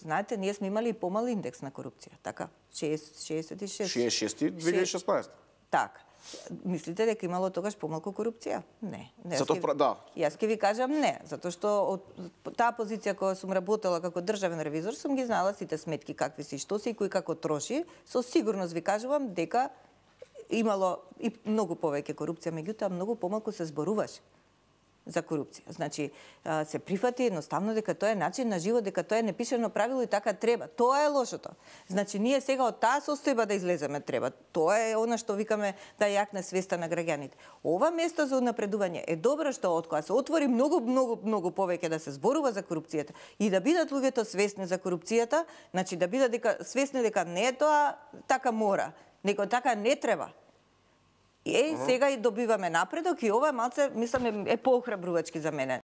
знаете, ние сме имали и помал индекс на корупција, така? 66. 66-2016. Така. Мислите дека имало тогаш помалку корупција? Не. Да. Јас ќе ви кажам не, затоа што од таа позиција која сум работела како државен ревизор сум ги знала сите сметки какви се и што се и кој како троши. Со сигурност ви кажувам дека имало и многу повеќе корупција, меѓутоа многу помалку се зборуваше за корупција. Значи, се прифати едноставно дека тоа е начин на живот, дека тоа е непишано правило и така треба. Тоа е лошото. Значи, ние сега од таа состојба да излеземе треба. Тоа е она што викаме да јакне свеста на граѓаните. Ова место за напредување е добро што од кога се отвори многу повеќе да се зборува за корупцијата и да бидат луѓето свесни за корупцијата, значи да бидат свесни дека не е тоа така мора, него така не треба. Сега и добиваме напредок и ова малце, мислам, е поохрабрувачки за мене.